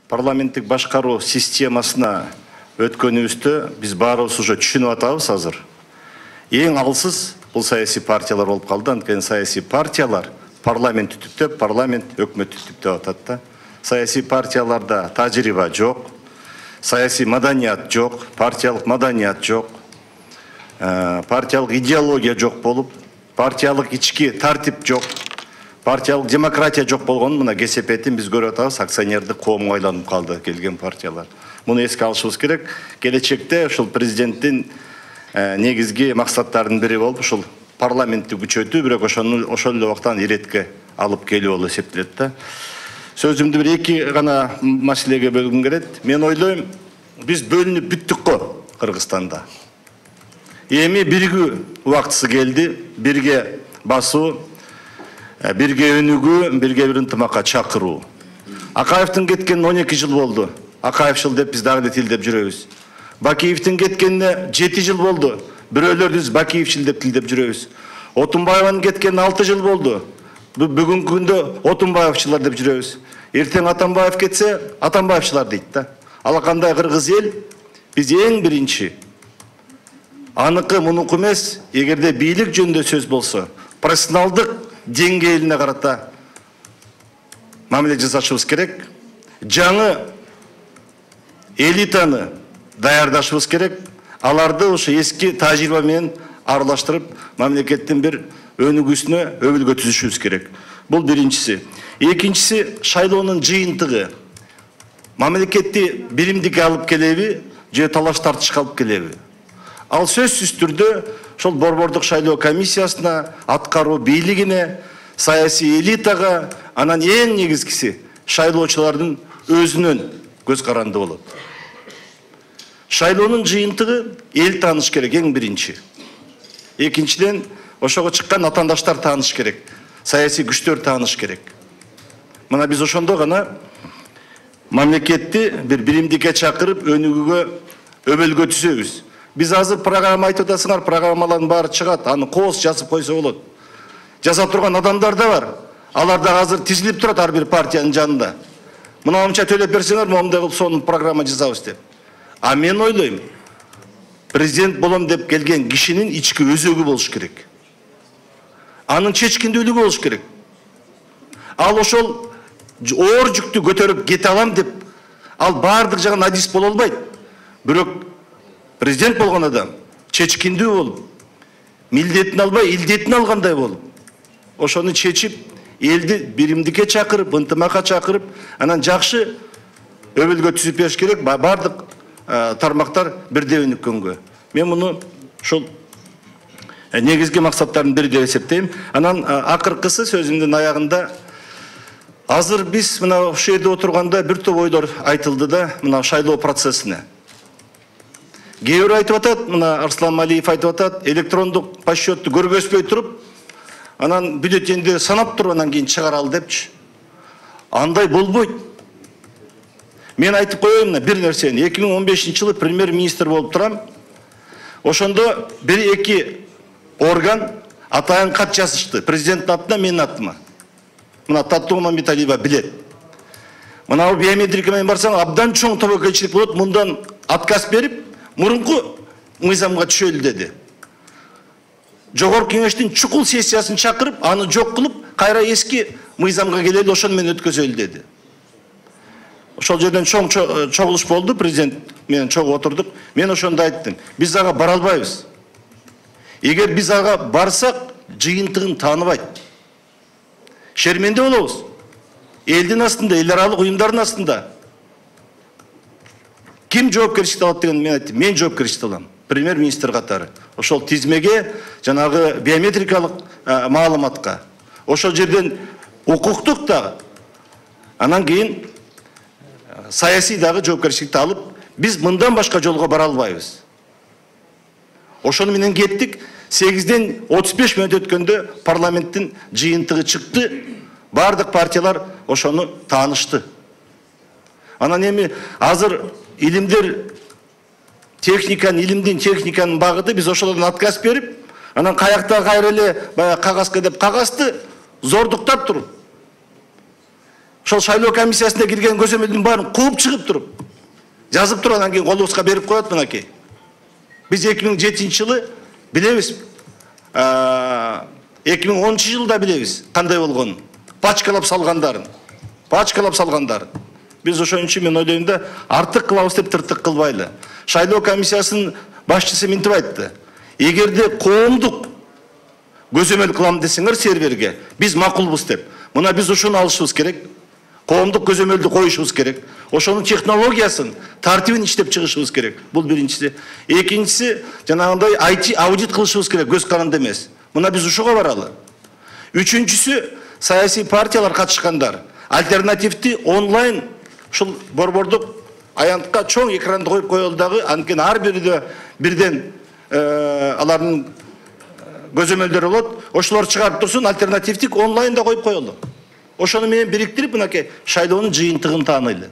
парламенттик башкаруу системасына өткөнүбүздө биз баарыбыз уже түшүнүп атабыз азыр. Эң алсыз бул саясий партиялар болуп калды. Анткени саясий партиялар парламент түтүптөп, парламент өкмөт түтүптөп атат да. Саясий партияларда тажрыйба жок, саясий маданият жок, партиялык маданият жок, партиялык идеология жок болуп, партиялык ички тартип жок, партиялык демократия жок болгонун мына кесепетин биз көрүп атабыз. Акционердик коомго айланып калды келген партиялар. Муну эске алышыбыз керек. Келечекте ушул президенттин негизги максаттарынын бири болуп ушул парламентти күчөтүү, бирок ошол эле убакта иретке алып келүү болуп эсептелет да. Сөзүмдү бир эки гана маселеге бөлгүм келет. Мен ойлойм, биз бөлүнүп бүттүк го Кыргызстанда. Эми биригүү убактысы келди, бирге басуу, бирге өнүгүү, бирге бир ынтымакка чакыруу. Акаевдин кеткенине 12 жыл болду. Акаевчил деп биз дагы эле тилдеп жүрөбүз. Бакиевдин кеткенине 7 жыл болду. Бирөөлөр Бакиевчил деп тилдеп жүрөбүз. Отунбаеванын кеткенине 6 жыл болду. Бүгүнкү күндө Отунбаевчилар деп жүрөбүз. Эртең Атамбаев кетсе, Атамбаевчилар дейт да. Ал кандай кыргыз эл? Биз эң биринчи аныкы мунуку эмес, эгерде бийлик жөнүндө сөз болсо, профессионалдык деңгээлине карата мамиле жасашыбыз керек. Жаңы элитаны даярдашыбыз керек. Аларды ушу эски тажрыйба менен аралаштырып, мамлекеттин бир өнүгүүсүнө өбүлгө түзүшүбүз керек. Бул биринчиси. Экинчиси, шайлоонун жыйынтыгы мамлекетти биримдикке алып келеби, же талаш тартышка алып келеби? Ал сөзсүз түрдө ошол борбордук шайлоо комиссиясына, аткаруу бийлигине, саясий элитага, анан эң негизгиси шайлоочулардын өзүнөн көз каранды болот. Шайлоонун жыйынтыгы эл тааныш керек эң биринчи. Экинчиден, ошого чыккан атаандаштар тааныш керек, саясий күчтөр тааныш керек. Мына биз ошондо гана мамлекетти бир биримдикке чакырып, өнүгүүгө өбөлгө түзөбүз. Биз азыр программа айтып атасыңар, программалардын баары чыгат, аны кооз жазып койсо болот. Жаза турган адамдар да бар. Алар да азыр тизилип турат ар бир партиянын жанында. Мынамча төлөп берсеңер, момундай кылып сонун программа жазабыз деп. А мен ойлойм, президент болом деп келген кишинин ички өзөгү болуш керек. Анын чечкиндүүлүгү болуш керек. Ал ошол оор жүктү көтөрүп кете алам деп, ал баардык жагын адис боло албайт. Бирок президент болгон адам чечкиндүү болуп, милдетин албай, илдетин алгандай болуп, ошону чечип, элди биримдикке чакырып, ынтымакка чакырып, анан жакшы өбөлгө түзүп бериш керек. Баардык тармактар бирдей өнүккөнгө. Мен муну ушул негизги максаттардын бири деп эсептейм. Анан акыркысы сөзүмдүн аягында азыр биз мына ошол жерде отурганда бир топ ойлор айтылды да, мына шайлоо процессине. Кээ бирөө айтып атат, мына Арслан Малиев айтып атат, электрондук подсчетту көргөзбөй туруп, анан бюллетенди санап туруп анан кийин чыгаралы депчи. Андай болбойт. Мен айтып коеюн бир нерсени. 2015-жылы премьер-министр болуп турам. Ошондо бир-эки орган атайын кат жазышты. Президенттин атына, менин атыма. Мына Татуу Мамбеталиева билет. Мына биометрика менен барсаң, абдан чоң тобокелчилик болот. Мындан отказ берип, мурунку мыйзамга түшөлү деди. Жогорку кеңештин чукул сессиясын чакырып, аны жок кылып, кайра эски мыйзамга келели, ошону менен өткөзөлү деди. Ошол жерден чоң чогулуш болду, президент менен чогуу отурдук. Мен ошондо айттым, биз ага бара албайбыз. Эгер биз ага барсак, жыйынтыгын тааныбайт. Шерменде болобуз. Элдин астында, эл аралык уюмдардын астында. Ким жоопкерчиликти алат деген мен айттым. Мен жоопкерчиликти алам. Премьер-министр катары. Ошол тизмеге, жанагы биометрикалык маалыматка. Ошол жерден укуктук дагы. Анан кийин саясий дагы жоопкерчиликти алып, биз мындан башка жолго бара албайбыз. Ошону менен кеттик. 8-ден 35 мүнөт өткөндө парламенттин жыйынтыгы чыкты. Бардык партиялар ошону таанышты. Анан эми азыр илимдер илимдин техниканын багыты, биз ошолордон отказ берип, анан каякта кайра эле баягы кагазга деп кагазды зордуктап туруп. ошол шайлоо комиссиясына кирген көзөмөлдүн баарын кууп чыгып туруп жазып туруп анан кийин колубузга берип коет. Мынакей биз 2007 жылы билебиз, 2010 жылда билебиз кандай болгонун, пачкалап салгандарын. Биз ошон үчүн мен ойлойм да, артык кылабыз деп тыртык кылбайлы. Шайлоо комиссиясынын башчысы мынтип айтты: эгерде коомдук көзөмөл кылам десеңер серверге, биз макулбуз деп. Мына биз ошону алышыбыз керек. Коомдук көзөмөлдү коюшубуз керек. Ошонун технологиясын, тартибин иштеп чыгышыбыз керек. Бул биринчиси. Экинчиси, жанагындай IT аудит кылышыбыз керек, көз каранды эмес. Мына биз ушуга баралы. Үчүнчүсү, саясий партиялар катышкандар альтернативди онлайн ушул борбордук аянтка чоң экранды коюп коелу дагы, анткени ар бирде бирден алардын көзөмөлдөрү болот. Ошолор чыгарып турсун, альтернативдик онлайнда коюп коелу. Ошону менен бириктирип, мынакей шайлоонун жыйынтыгын таанайлы.